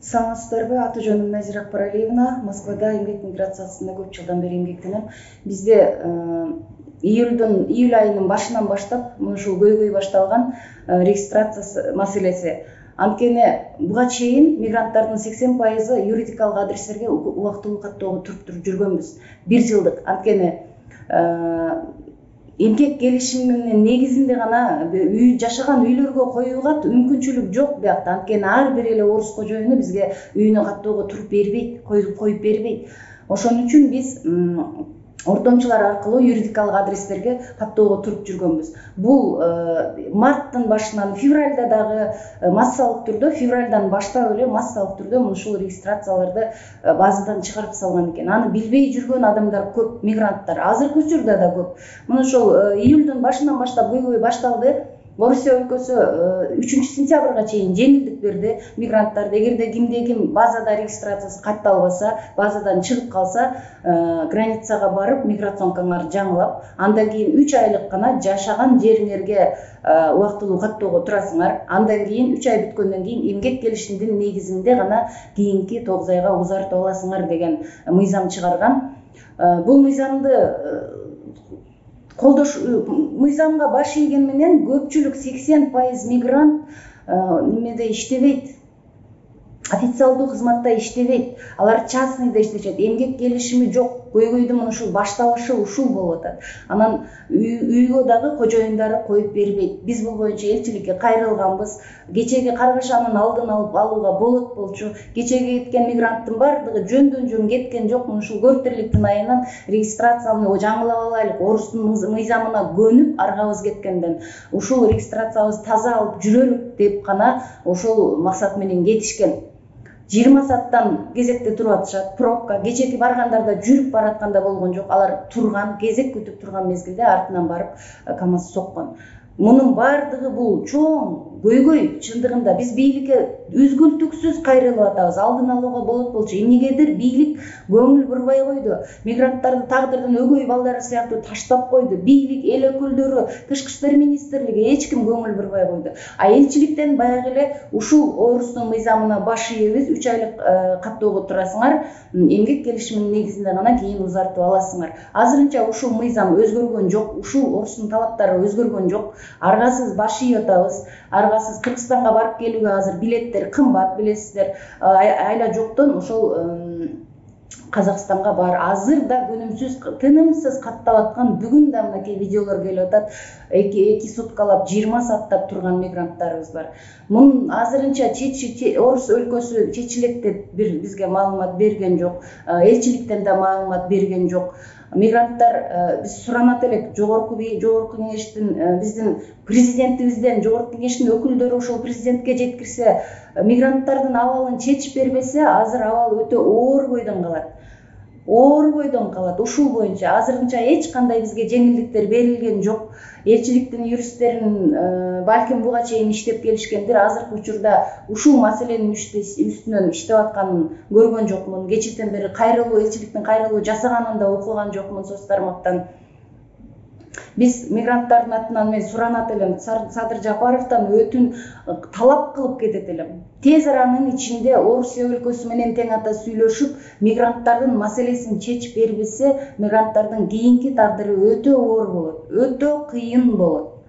Саламатсыздарбы? Аты-жөнүм Назира Акбаралиевна. Москвада эмгек миграциясында көп жылдан бери эмгектенем. Бизде июль айынын башынан баштап ушул көйгөй башталган регистрация маселеси. Анткени буга чейин мигранттардын 80% юридикалык адрестерге убактылуу каттоого туруп жүргөнбүз. 1 жылдык. Анткени эмгек келишиминин негизинде гана жашаган үйлөргө коюлган мүмкүнчүлүк жок биякта. Анткени ар бир эле орус кожоюну бизге үйүнө каттоого туруп бербейт, коюп бербейт. Ошон үчүн биз ортомчулар аркылуу юридикалык адрестерге каттоого туруп жүргөнбүз. Бул марттын башынан февралда дагы массалык түрдө, февралдан баштап эле массалык түрдө ушул регистрацияларды базадан чыгарып салган экен. Аны билбей жүргөн адамдар көп, мигранттар. Азыркы учурда да көп. Мына ошол июлдун башынан баштап көйгөй башталды. Орусия өлкөсү 3-сентябрга чейин жеңилдик берди мигранттарды. Эгерде ким базада регистрациясы катталбаса, базадан чыгып калса, границага барып миграционкаңарды жаңылап, андан кийин 3 айлык гана жашаган жериңерге убактылуу каттоого турасыңар. Андан кийин 3 ай бүткөндөн кийин эмгек келишимдин негизинде гана кийинки 9 айга узартып аласыңар деген мыйзам чыгарган. Бул мыйзамды мыйзамга баш ийген менен көпчүлүк 80% мигрант немеде иштебейт. Официалдуу кызматта иштебейт. Алар частныйда иштешет. Эмгек келишими жок. Көйгөйдүн ушул башталышы ушул болуп атат. Анан үйгө дагы кожоюндары коюп бербейт. Биз бул боюнча элчиликке кайрылганбыз. Кечеги каргашанын алдын алууга болот болчу. Кечеги кеткен мигранттын бардыгы жөндөн жөн кеткен жок. Ушул көптүрлүктүн айынан регистрацияны жаңылап алайлык, орустун мыйзамына көнүп аргабыз кеткенден ушул регистрациябызды таза алып жүрөлүк деп гана ошол максат менен кетишкен. 20 сааттан кезекте туруп атышат, пробка. Кечеги баргандарда жүрүп баратканда болгон жок. Алар турган, кезек күтүп турган мезгилде артынан барып КАМАЗ соккон. Мунун бардыгы бул чоң көйгөй. Чындыгында биз бийликке үзгүлтүксүз кайрылып атабыз. Алдын алууга болот болчу. Эмнегедир бийлик көңүл бурбай койду. Мигранттарды тагдырдын өгөй балдары сыяктуу таштап койду. Бийлик, эл өкүлдөрү, Тышкы иштер министрлиги эч ким көңүл бурбай койду. А элчиликтен баягы эле ушул орустун мыйзамына баш ийебиз, 3 айлык каттоого турасыңар, эмгек келишиминин негизинде гана кийин узартып аласыңар. Азырынча ушул мыйзам өзгөргөн жок, ушул орустун талаптары өзгөргөн жок. Аргасыз баш ийип атабыз. Аргасыз Кыргызстанга барып келүүгө азыр билеттер кымбат, билесиздер. Айла жоктон ошол Казакстанга бар. Азыр да күнүмсүз, тынымсыз каттап аткан, бүгүн да мынакей видеолор келип атат. 2 суткалап, 20 сааттап турган мигранттарыбыз бар. Мунун азырынча Орус өлкөсү чечилет деп бизге маалымат берген жок. Элчиликтен да маалымат берген жок. Мигранттар биз суранат элек жогорку кеңештин, биздин президентибизден, жогорку кеңештин өкүлдөрү ошол президентке жеткирсе, мигранттардын абалын чечип бербесе, азыр абал өтө оор бойдон калат. Оор бойдон калат. Ушул боюнча азырынча эч кандай бизге жеңилдиктер берилген жок. Элчиликтин юристтерин балким буга чейин иштеп келишкендир. Азыркы учурда ушул маселенин үстүнөн иштеп атканын көргөн жокмун. Кечээден бери элчиликтин кайрылуу жасаганын да окуган жокмун соц тармактан. Биз мигранттардын атынан мен суранат элем, Садыр Жапаровдон өтүн талап кылып кетет элем. Тез аранын ичинде Орусия өлкөсү менен тең ата сүйлөшүп, мигранттардын маселесин чечип бербесе, мигранттардын кийинки тагдыры өтө оор болот, өтө кыйын болот.